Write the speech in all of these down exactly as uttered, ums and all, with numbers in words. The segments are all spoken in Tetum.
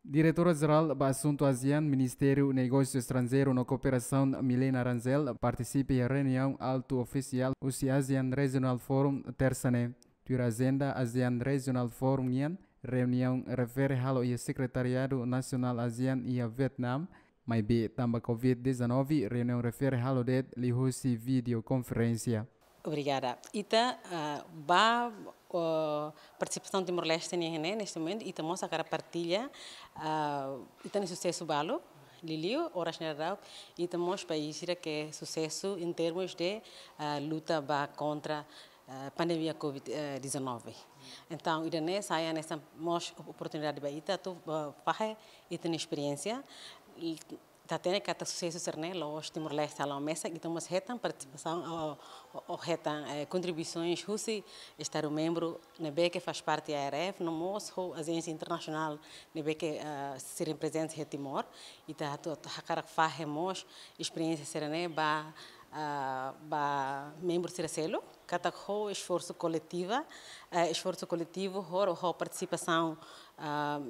Diretora Jerál ba Asuntu ASEAN, Ministériu Negósiu Estranjeiru no Kooperasaun, Milena Rangel, partisipa iha reuniaun altu ofisiál husi ASEAN Regional Forum, tersa ne'e. Tuir ajenda ASEAN Regional Forum nian, reuniaun refere halo iha Sekretariadu Nasionál ASEAN iha Vietnam, maibé tanba covid dezanove, reuniaun refere halo de'it liuhusi videokonferénsia. Obrigada. Ita, ah, ba, oh, partisipasaun Timor-Leste nian ne'e, neste momentu, ita mós hakarak partilla, ah, ita-nia susesu balu, liuliu, oras ne'e daudaun, ita mós país sira ke susesu em termos de, ah, luta ba kontra, ah, pandemia covid dezanove. Entaun, ida-ne'e sai hanesan mós oportunidade ba ita atu, ah, fahe ita-nia esperiénsia, i ita hatene katak susesu sira-ne'e la'ós Timor-Leste hala'o mesak, ita mós hetan partisipasaun ou, ou, ou hetan, eh, kontribuisoens husi Estadu membru ne'ebé ke faz parte ARF, no mós ho ajénsia internasionál ne'ebé ke, ah, sira prezente iha Timor. Ita atu, atu hakarak fahe mós esperiénsia sira-ne'e ba, ah, ba membru sira seluk, katak ho esforsu koletiva, eh, esforsu koletivu, ho, ho partisipasaun, ah,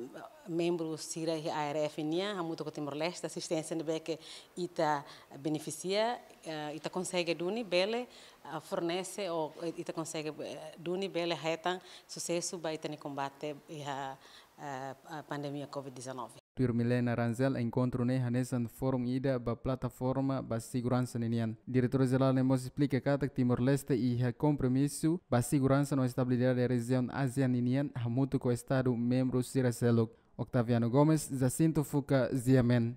membru sira iha ARF nian, hamutuk ho Timor-Leste, asisténsia ne'ebé ke ita benefisia, eh, ita konsege duni bele, ah, fornese ou, eh, ita konsege, eh, duni bele hetan susesu ba ita-nia kombate iha, eh, ah, pandemia covid dezanove. Tuir Milena Rangel, enkontru ne'e hanesan forum ida ba plataforma ba seguransa ninian. Diretora Jerál ne'e mós esplika katak Timor-Leste iha kompromisu ba seguransa no estabilidade rejiaun ASEAN ninian hamutuk ho Estadu membru sira seluk. Octaviano Gomes, Jacinto Fuca, G M N.